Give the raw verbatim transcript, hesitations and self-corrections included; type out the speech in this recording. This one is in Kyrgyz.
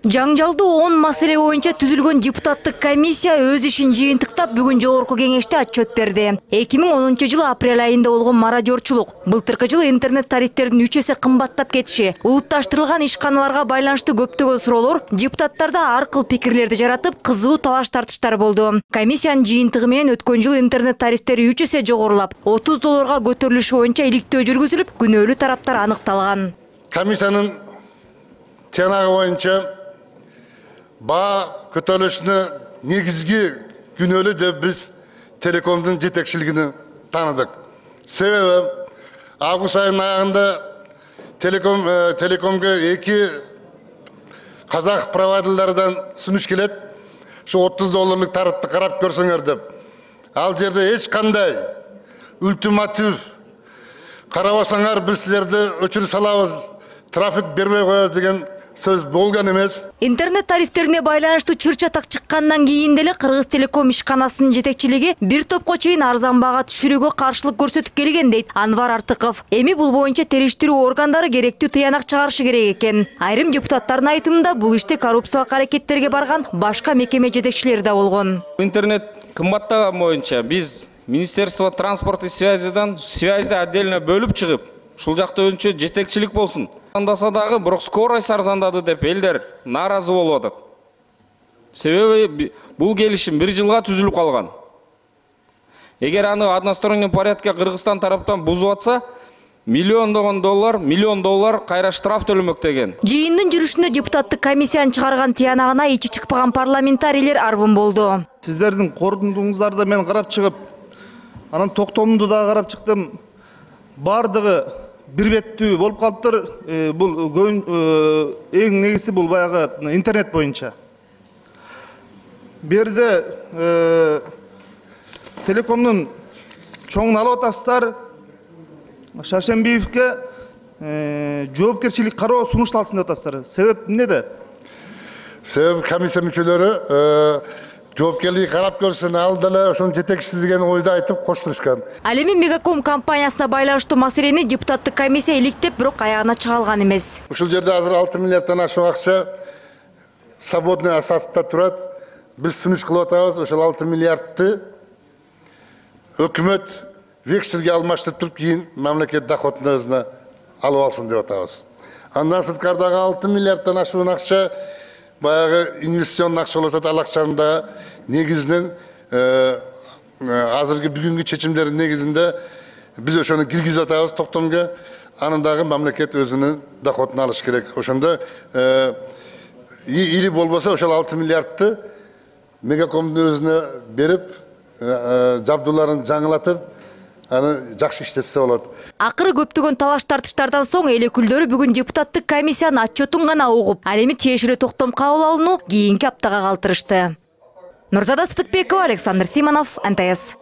Жаңжалдуу он маселе боюнча түзүлгөн депутаттык комиссия өз ишин жыйынтыктап бүгүн жогорку кеңеште отчет берди. эки миң онунчу жылы апрель айында болгон мародёрчулук, былтыркы жылы интернет тарифтердин үч эсе кымбаттап кетиши, улутташтырылган ишканаларга байланыштуу көптөгөн суроолор депутаттарда ар кыл пикирлерди жаратып, кызуу талаш тартыштар болду. Комиссиянын жыйынтыгы менен өткөн жылы интернет тарифтери үч эсе жогорулап, отуз долларга көтөрүлүшү боюнча иликтөө жүргүзүлүп, күнөөлүү тараптар аныкталган. Комиссиянын тиянагы боюнча баа көтөрүлүшүнө негизги күнөөлүү деп биз телекомдун жетекчилигин тааныдык. Себеби август айынын аягында телеком телекомго эки казак провайдерлерден сунуш келет. Şu отуз долларлык тарифти карап көрсөңөр деп. Ал жерде эч кандай ультиматив карабасаңар биз силерди өчүрүп салабыз, трафик бербей коебуз деген сөз болгон эмес. Интернет тарифтерине байланыштуу чыр-чатак чыккандан кийин деле Кыргыз Телеком ишканасынын жетекчилиги бир топко чейин арзан баага түшүрүүгө каршылык көрсөтүп келген дейт Анвар Артыков. Эми бул боюнча териштирүү органдары керектүү тыянак чыгарышы керек экен. Айрым депутаттардын айтымында бул иште коррупциялык аракеттерге барган башка мекеме жетекчилери да болгон. Интернет кымбаттаган боюнча биз Министерство транспорта и связидан связьди отдельно бөлүп чыгып, ушул жакта өзүнчө жетекчилик болсун. Андаса дагы бирок скорость арзандады деп элдер нааразы болуп атат. Себеби бул келишим бир жылга түзүлүп калган. Эгер аны односторонний порядкта Кыргызстан тараптан бузуп атса, миллиондогон доллар, миллион доллар кайра штраф төлөмөк деген. Жыйындын жүрүшүндө депутаттык комиссиянын чыгарган тиянагына ичи чыкпаган парламентарийлер арбын болду. Сиздердин корутуңуздарды мен карап чыгып, анан токтомду да карап чыктым. Бардыгы бир беттүү болуп калыптыр. Бул эң негизи бул баягы интернет боюнча. Берде телекомдун чоңун алып атасыздар. Шаршембиевке жоопкерчилик кароо сунушталсын деп атасыздар. Себеп эмнеде? Себеп комиссия мүчөлөрү жоопкерлиги карап көрсүн, ал деле ошонун жетекчиси деген ойду айтып коштурушкан. Ал эми Мегаком компаниясына байланыштуу маселени депутаттык комиссия иликтеп, бирок аягына чыга алган эмес. Ушул жерде азыр алты миллиарддан ашык акча свободный асаста турат. Биз сунуш кылып атабыз, ошол алты миллиардты өкмөт векселге алмаштырып туруп, кийин мамлекет доходун өзүнө алып алсын деп атабыз. Андан сырткардагы алты миллиарддан ашуун акча баягы инвестиционный акча болуп атат. Ал акчаны да негизинен азыркы бүгүнкү чечимдердин негизинде биз ошону киргизип атабыз токтомго. Анын дагы мамлекет өзүнүн доходун алыш керек. Ошондо или болбосо ошол алты миллиардты Мегакомдун өзүнө берип, жабдууларын жаңылатып, аны жакшы иштетсе болот. Акыры көптөгөн талаш тартыштардан соң эл өкүлдөрү бүгүн депутаттык комиссиянын отчетун гана угуп, ал эми тиешелүү токтом кабыл алууну кийинки аптага калтырышты. Нурзада Сыдыкбекова, Александр Симонов, эн тэ эс.